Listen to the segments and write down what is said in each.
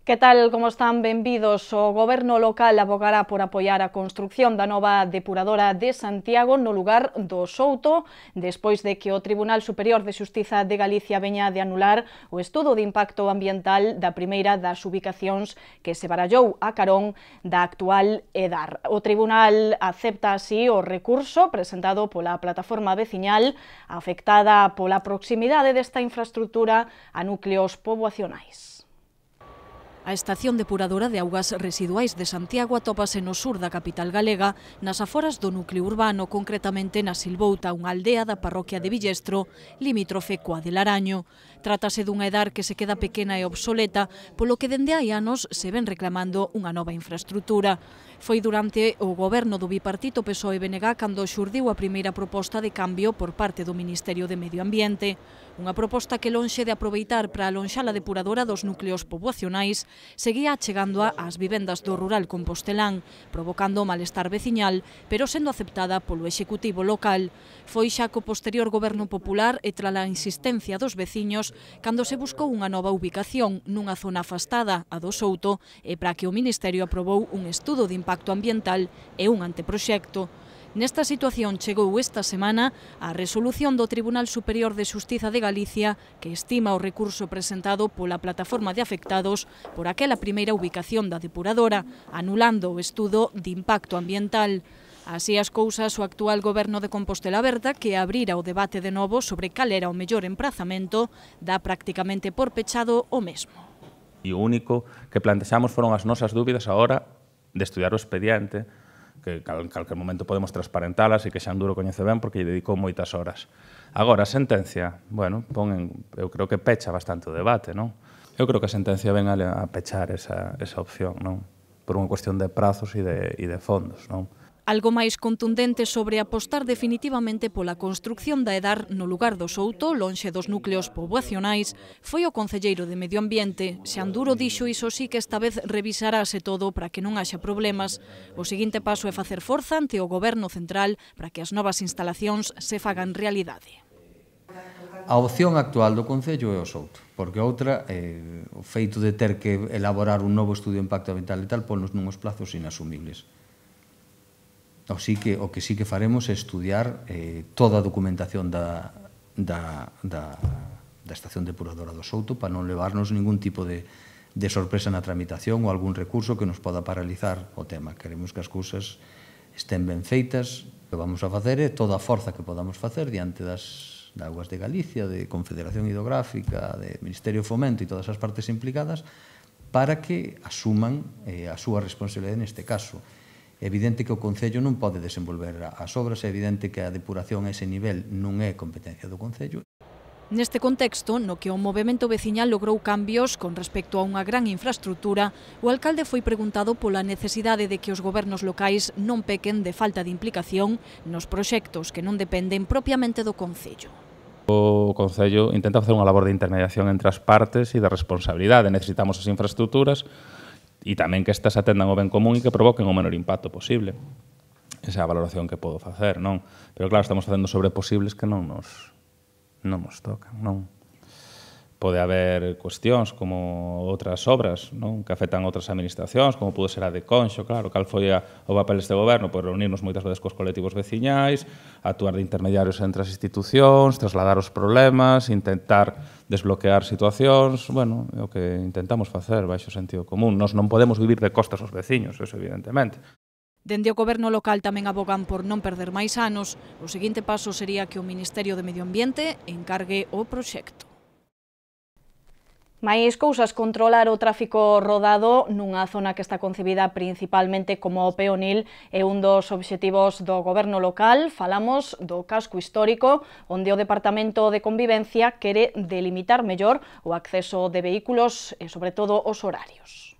Que tal, como están? Benvidos. O Goberno local abogará por apoiar a construción da nova depuradora de Santiago no lugar do Souto, despois de que o Tribunal Superior de Xustiza de Galicia veña de anular o estudo de impacto ambiental da primeira das ubicacións que se barallou a carón da actual EDAR. O Tribunal acepta así o recurso presentado pola plataforma veciñal afectada pola proximidade desta infraestructura a núcleos poboacionais. A estación depuradora de augas residuais de Santiago atópase no sur da capital galega, nas aforas do núcleo urbano, concretamente na Silbouta, unha aldea da parroquia de Villestro, limítrofe coa de Laraño. Trátase dunha EDAR que se queda pequena e obsoleta, polo que dende hai anos se ven reclamando unha nova infraestructura. Foi durante o goberno do bipartito PSOE-BNG cando xurdiu a primeira proposta de cambio por parte do Ministerio de Medio Ambiente. Unha proposta que, lonxe de aproveitar para alonxar a depuradora dos núcleos poboacionais, seguía achegando ás vivendas do rural compostelán, provocando malestar veciñal, pero sendo aceptada polo Executivo local. Foi xa co posterior goberno popular e trala insistencia dos veciños cando se buscou unha nova ubicación nunha zona afastada, a do Souto, e para que o Ministerio aprobou un estudo de impacto ambiental e un anteproxecto. Nesta situación chegou esta semana a resolución do Tribunal Superior de Xustiza de Galicia que estima o recurso presentado pola plataforma de afectados por aquela primeira ubicación da depuradora, anulando o estudo de impacto ambiental. Así as cousas, o actual goberno de Compostela Aberta, que abrira o debate de novo sobre cal era o mellor emprazamento, dá prácticamente por pechado o mesmo. E o único que plantexamos foron as nosas dúbidas a hora de estudiar o expediente, que calquer momento podemos transparentalas e que Xanduro coñece ben porque lle dedicou moitas horas. Agora, a sentencia, bueno, eu creo que pecha bastante o debate, non? Eu creo que a sentencia ven a pechar esa opción, non? Por unha cuestión de prazos e de fondos, non? Algo máis contundente sobre apostar definitivamente pola construción da EDAR no lugar do Souto, lonxe dos núcleos poboacionais, foi o concelleiro de Medio Ambiente. Xanduro dixo iso sí que esta vez revisarase todo para que non haxa problemas. O seguinte paso é facer forza ante o Goberno central para que as novas instalacións se fagan realidade. A opción actual do Concello é o Souto, porque outra, o feito de ter que elaborar un novo estudio de impacto ambiental e tal, ponnos nuns plazos inasumibles. O que sí que faremos é estudiar toda a documentación da estación depuradora do Souto para non levarnos ningún tipo de sorpresa na tramitación ou algún recurso que nos poda paralizar o tema. Queremos que as cousas estén ben feitas. O que vamos a facer é toda a forza que podamos facer diante das Augas de Galicia, de Confederación Hidrográfica, de Ministerio de Fomento e todas as partes implicadas para que asuman a súa responsabilidade neste caso. É evidente que o Concello non pode desenvolver as obras, é evidente que a depuración a ese nivel non é competencia do Concello. Neste contexto, no que o movemento veciñal logrou cambios con respecto a unha gran infraestructura, o alcalde foi preguntado pola necesidade de que os gobernos locais non pequen de falta de implicación nos proxectos que non dependen propiamente do Concello. O Concello intenta facer unha labor de intermediación entre as partes e de responsabilidade. Necesitamos as infraestructuras e tamén que estas atendan o ben común e que provoquen o menor impacto posible. Esa é a valoración que podo facer, non? Pero claro, estamos facendo sobre posibles que non nos tocan, non? Pode haber cuestións como outras obras, non? Que afectan outras administracións, como pudo ser a de Conxo, claro, cal foi o papel deste goberno, pois reunirnos moitas veces cos colectivos veciñais, actuar de intermediarios entre as institucións, trasladar os problemas, intentar desbloquear situacións, bueno, é o que intentamos facer baixo sentido común. Nós non podemos vivir de costas aos veciños, eso evidentemente. Dende o goberno local tamén abogan por non perder máis anos. O seguinte paso sería que o Ministerio de Medio Ambiente encargue o proxecto. Máis cousas, controlar o tráfico rodado nunha zona que está concebida principalmente como peonil é un dos obxectivos do goberno local. Falamos do casco histórico, onde o Departamento de Convivencia quere delimitar mellor o acceso de vehículos e, sobre todo, os horarios.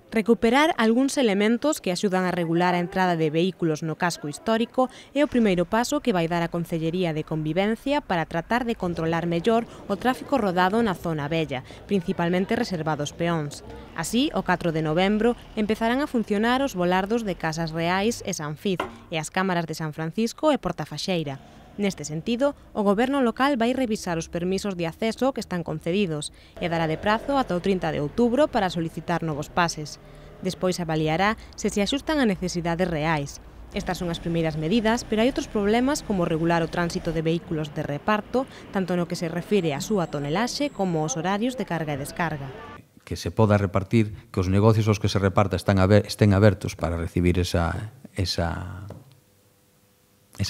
Recuperar algúns elementos que axudan a regular a entrada de vehículos no casco histórico é o primeiro paso que vai dar a Concellería de Convivencia para tratar de controlar mellor o tráfico rodado na zona vella, principalmente reservado aos peóns. Así, o 4 de novembro, empezarán a funcionar os volardos de Casas Reais e San Fiz e as cámaras de San Francisco e Portafaxeira. Neste sentido, o Goberno local vai revisar os permisos de acceso que están concedidos e dará de prazo ata o 30 de outubro para solicitar novos pases. Despois avaliará se axustan a necesidades reais. Estas son as primeiras medidas, pero hai outros problemas como regular o tránsito de vehículos de reparto, tanto no que se refire á súa tonelaxe como aos horarios de carga e descarga. Que se poda repartir, que os negocios aos que se reparta estén abertos para recibir esa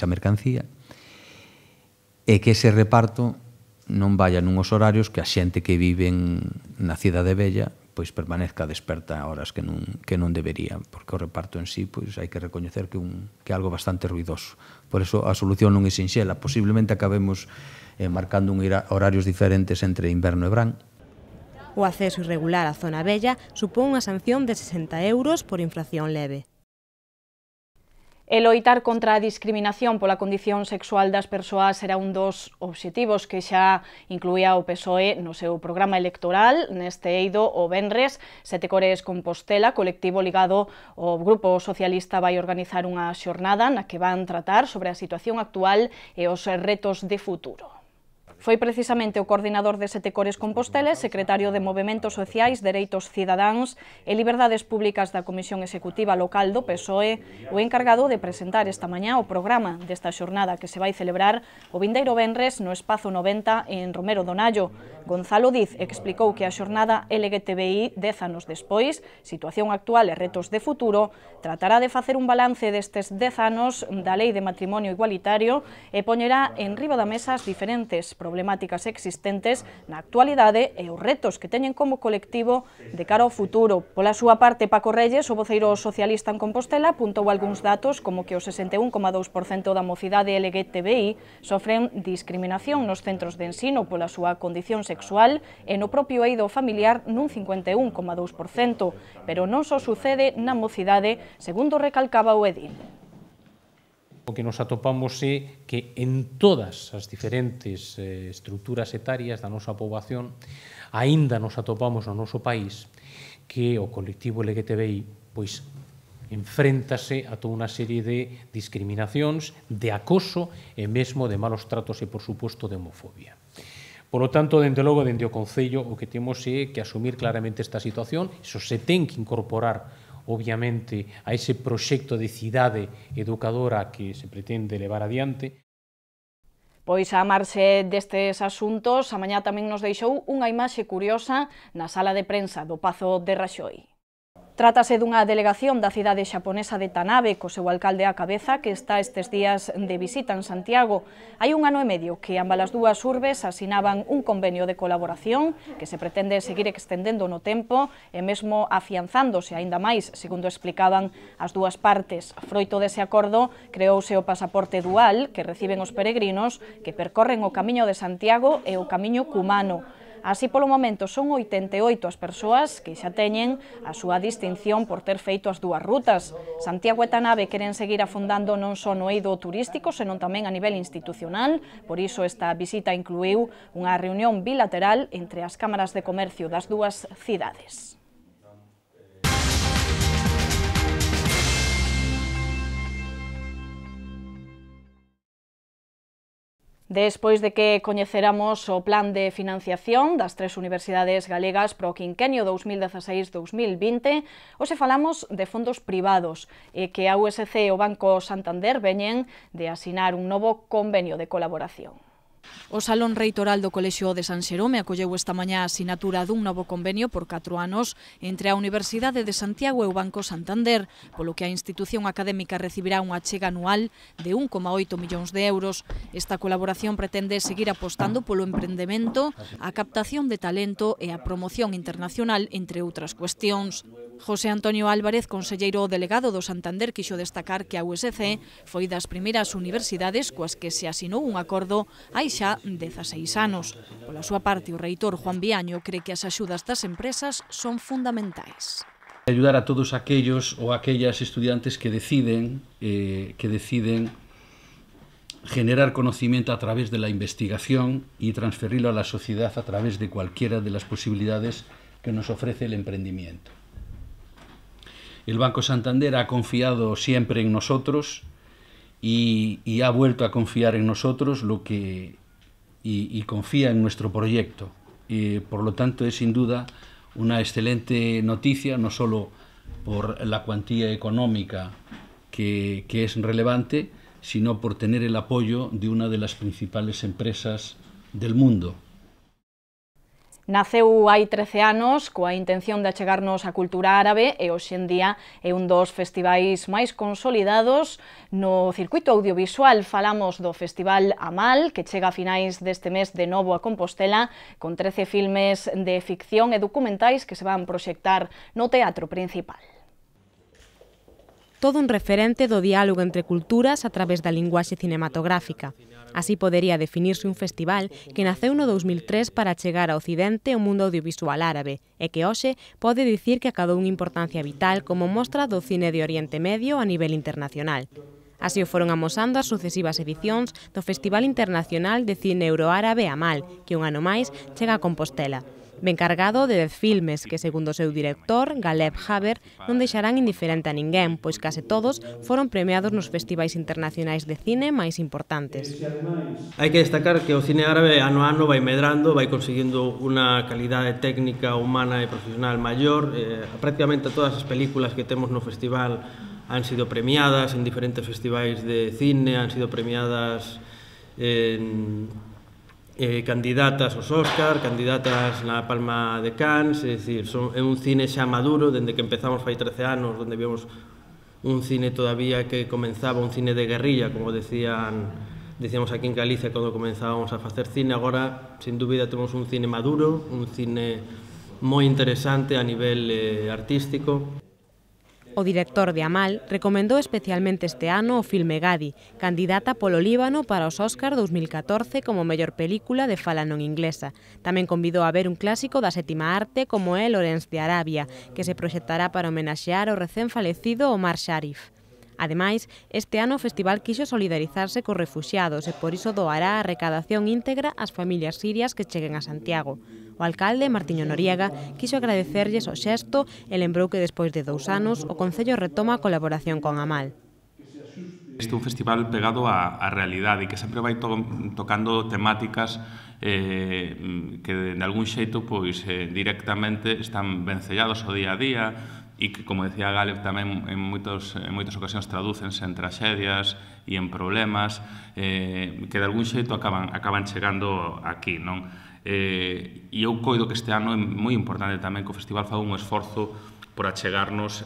mercancía, e que ese reparto non vaya nuns horarios que a xente que vive na cidade vella pois permanezca desperta a horas que non debería, porque o reparto en sí pois hai que recoñecer que é algo bastante ruidoso. Por eso a solución non é sinxela, posiblemente acabemos marcando horarios diferentes entre inverno e verán. O acceso irregular á zona vella supón unha sanción de 60 € por infracción leve. E loitar contra a discriminación pola condición sexual das persoas era un dos obxectivos que xa incluía o PSOE no seu programa electoral. Neste eido, o venres, Sete Cores Compostela, colectivo ligado ao Grupo Socialista, vai organizar unha xornada na que van tratar sobre a situación actual e os retos de futuro. Foi precisamente o coordinador de Sete Cores Compostela, secretario de Movementos Sociais, Dereitos Cidadáns e Liberdades Públicas da Comisión Executiva Local do PSOE, o encargado de presentar esta mañá o programa desta xornada que se vai celebrar o vindeiro venres no Espazo 90 en Romero Donallo. Gonzalo Diz explicou que a xornada LGTBI 10 anos despois, situación actual e retos de futuro, tratará de facer un balance destes 10 anos da Lei de Matrimonio Igualitario e poñerá en riba da mesa as diferentes problemáticas existentes na actualidade e os retos que teñen como colectivo de cara ao futuro. Pola súa parte, Paco Reyes, o voceiro socialista en Compostela, apuntou algúns datos como que o 61,2% da mocidade LGTBI sofren discriminación nos centros de ensino pola súa condición sexual e no propio eido familiar nun 51,2%, pero non só sucede na mocidade, segundo recalcaba o edil. O que nos atopamos é que en todas as diferentes estruturas etarias da nosa poboación aínda nos atopamos no noso país que o colectivo LGTBI pois enfréntase a toda unha serie de discriminacións, de acoso e mesmo de malos tratos e, por suposto, de homofobia. Por lo tanto, dende logo, dende o Concello, o que temos é que asumir claramente esta situación, iso se ten que incorporar obviamente, a ese proxecto de cidade educadora que se pretende levar adiante. Pois a marxe destes asuntos, a mañá tamén nos deixou unha imaxe curiosa na sala de prensa do Pazo de Raxoi. Trátase dunha delegación da cidade xaponesa de Tanabe, co seu alcalde á cabeza, que está estes días de visita en Santiago. Hai un ano e medio que ambas as dúas urbes asinaban un convenio de colaboración que se pretende seguir extendendo no tempo e mesmo afianzándose aínda máis, segundo explicaban as dúas partes. Froito dese acordo, creouse o pasaporte dual que reciben os peregrinos que percorren o Camiño de Santiago e o Camiño Cumano. Así, polo momento, son 88 as persoas que xa teñen a súa distinción por ter feito as dúas rutas. Santiago e Tanabe queren seguir afondando non só no eido turístico, senón tamén a nivel institucional. Por iso, esta visita incluíu unha reunión bilateral entre as cámaras de comercio das dúas cidades. Despois de que coñeceramos o plan de financiación das tres universidades galegas para o quinquenio 2016-2020, hoxe falamos de fondos privados e que a USC e o Banco Santander veñen de asinar un novo convenio de colaboración. O Salón Reitoral do Colexio de San Xerome acolleu esta mañá a asinatura dun novo convenio por 4 anos entre a Universidade de Santiago e o Banco Santander, polo que a institución académica recibirá unha achega anual de 1,8 millóns de euros. Esta colaboración pretende seguir apostando polo emprendemento, a captación de talento e a promoción internacional, entre outras cuestións. José Antonio Álvarez, conselleiro delegado do Santander, quixo destacar que a USC foi das primeiras universidades coas que se asinou un acordo hai xa 16 anos. Pola súa parte, o reitor Juan Viaño cree que as axudas das empresas son fundamentais. Ayudar a todos aquellos ou aquellas estudiantes que deciden generar conocimiento a través de la investigación y transferirlo a la sociedad a través de cualquiera de las posibilidades que nos ofrece el emprendimiento. El Banco Santander ha confiado siempre en nosotros y ha vuelto a confiar en nosotros y confía en nuestro proyecto. Y por lo tanto es sin duda una excelente noticia, no solo por la cuantía económica que es relevante, sino por tener el apoyo de una de las principales empresas del mundo. Naceu hai 13 anos coa intención de achegarnos á cultura árabe e hoxe en día é un dos festivais máis consolidados no circuito audiovisual. Falamos do Festival Amal, que chega a finais deste mes de novo a Compostela, con 13 filmes de ficción e documentais que se van proxectar no Teatro Principal. Todo un referente do diálogo entre culturas a través da linguaxe cinematográfica. Así podería definirse un festival que naceu no 2003 para chegar a Occidente o mundo audiovisual árabe e que hoxe pode dicir que acadou unha importancia vital como mostra do cine de Oriente Medio a nivel internacional. Así o foron amosando as sucesivas edicións do Festival Internacional de Cine Euroárabe Amal, que un ano máis chega a Compostela. Ben cargado de 10 filmes que, segundo o seu director, Galeb Haber, non deixarán indiferente a ninguén, pois case todos foron premiados nos festivais internacionais de cine máis importantes. Hai que destacar que o cine árabe ano a ano vai medrando, vai conseguindo unha calidade técnica, humana e profesional maior. Prácticamente todas as películas que temos no festival han sido premiadas en diferentes festivais de cine, han sido premiadas candidatas aos Óscar, candidatas na Palma de Cannes, é dicir, é un cine xa maduro, dende que empezamos fai 13 anos, onde vimos un cine todavía que comenzaba, un cine de guerrilla, como decíamos aquí en Galicia cando comenzábamos a facer cine. Agora, sin dúbida, temos un cine maduro, un cine moi interesante a nivel artístico. O director de Amal recomendou especialmente este ano o filme Gadi, candidata polo Líbano para os Óscar 2014 como mellor película de fala non inglesa. Tamén convidou a ver un clásico da sétima arte como é Lawrence de Arabia, que se proxectará para homenaxear o recén falecido Omar Sharif. Ademais, este ano o festival quixo solidarizarse cos refuxiados e por iso doará a recadación íntegra ás familias sirias que cheguen a Santiago. O alcalde, Martiño Noriega, quixo agradecerlles o xesto e lembrou que despois de 2 anos o Concello retoma a colaboración con Amal. Este é un festival pegado á realidade e que sempre vai tocando temáticas que de algún xeito directamente están vencellados ao día a día e que, como decía Galeb, tamén en moitas ocasións tradúcense en tragedias e en problemas que de algún xeito acaban chegando aquí, non? E eu coido que este ano é moi importante tamén que o festival faga un esforzo por achegarnos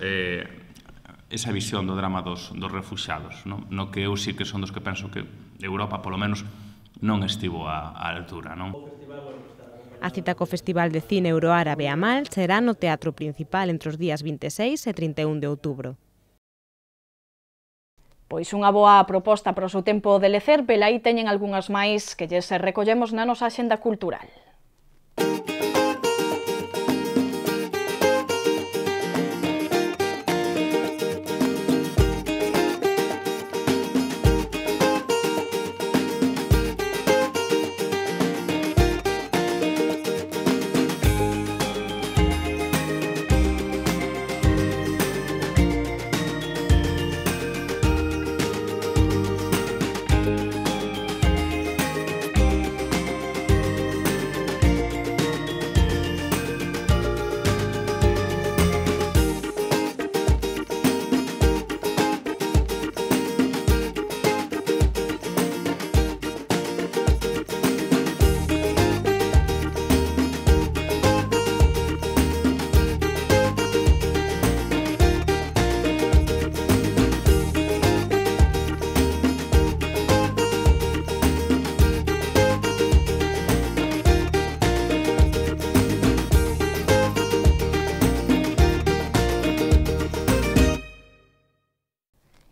esa visión do drama dos refuxiados, no que eu sí que son dos que penso que Europa, polo menos, non estivo á altura, non? A cita co Festival de Cine Euroárabe Amal será no Teatro Principal entre os días 26 e 31 de outubro. Pois unha boa proposta para o seu tempo de lecer, pero aí teñen algunhas máis que lles recollemos na nosa axenda cultural.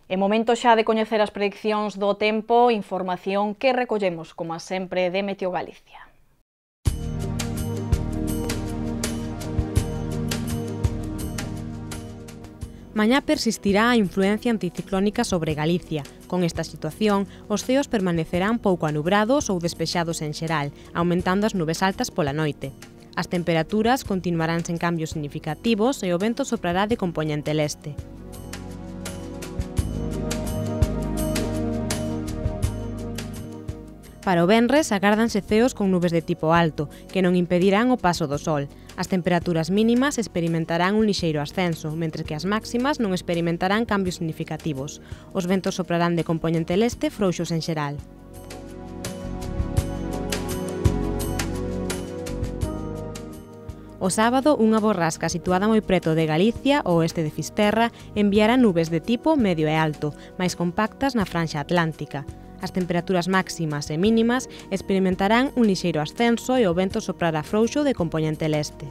É momento xa de coñecer as prediccións do tempo, información que recollemos, como sempre, de Meteo Galicia. Mañá persistirá a influencia anticiclónica sobre Galicia. Con esta situación, os ceos permanecerán pouco anubrados ou despexados en xeral, aumentando as nubes altas pola noite. As temperaturas continuarán sen cambios significativos e o vento soprará de compoñente leste. Para o venres agárdanse ceos con nubes de tipo alto, que non impedirán o paso do sol. As temperaturas mínimas experimentarán un lixeiro ascenso, mentre que as máximas non experimentarán cambios significativos. Os ventos soprarán de compoñente leste frouxos en xeral. O sábado, unha borrasca situada moi preto de Galicia, ao oeste de Fisterra, enviará nubes de tipo medio e alto, máis compactas na franxa atlántica. As temperaturas máximas e mínimas experimentarán un lixeiro ascenso e o vento soprará frouxo de compoñente leste.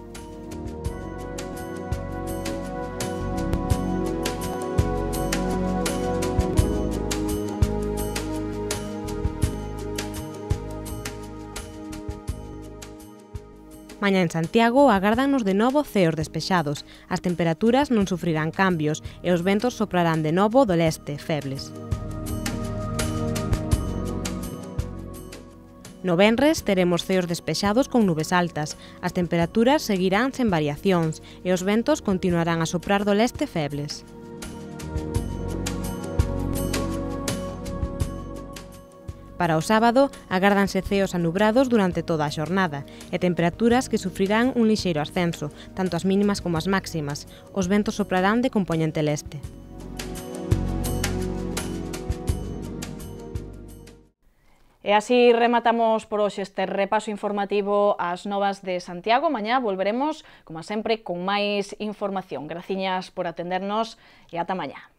Mañá en Santiago agárdannos de novo ceos despexados, as temperaturas non sufrirán cambios e os ventos soprarán de novo do leste, febles. No venres teremos ceos despexados con nubes altas, as temperaturas seguirán sen variacións e os ventos continuarán a soprar do leste febles. Para o sábado, agárdanse ceos anubrados durante toda a xornada e temperaturas que sufrirán un lixeiro ascenso, tanto as mínimas como as máximas. Os ventos soprarán de compoñente leste. E así rematamos por hoxe este repaso informativo ás novas de Santiago. Mañá volveremos, como sempre, con máis información. Graciñas por atendernos e ata mañá.